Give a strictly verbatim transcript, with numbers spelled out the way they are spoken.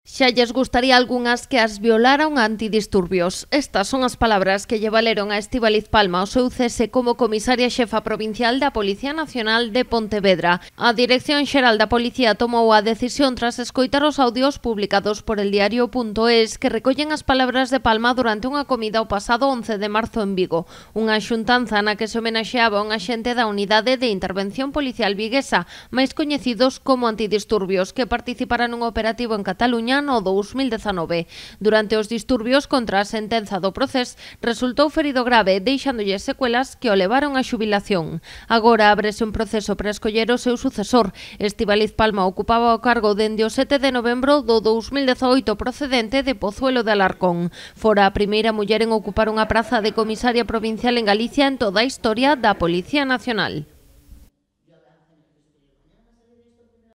Xa lles gustaría algunhas que as violaran antidisturbios. Estas son as palabras que lle valeron a Estíbaliz Palma o seu cese como comisaria xefa provincial da Policía Nacional de Pontevedra. A Dirección Xeral da Policía tomou a decisión tras escoitar os audios publicados por el diario punto es que recollen as palabras de Palma durante unha comida o pasado once de marzo en Vigo, unha xuntanza na que se homenaxeaba un axente da Unidade de Intervención Policial viguesa, máis coñecidos como antidisturbios, que participaran nun operativo en Cataluña no dous mil dezanove. Durante os disturbios contra a sentenza do procés, resultou ferido grave, deixándolle secuelas que o levaron á xubilación. Agora ábrese un proceso para escoller o seu sucesor. Estíbaliz Palma ocupaba o cargo dende o sete de novembro do dous mil dezaoito procedente de Pozuelo de Alarcón. Fora a primeira muller en ocupar unha praza de comisaria provincial en Galicia en toda a historia da Policía Nacional.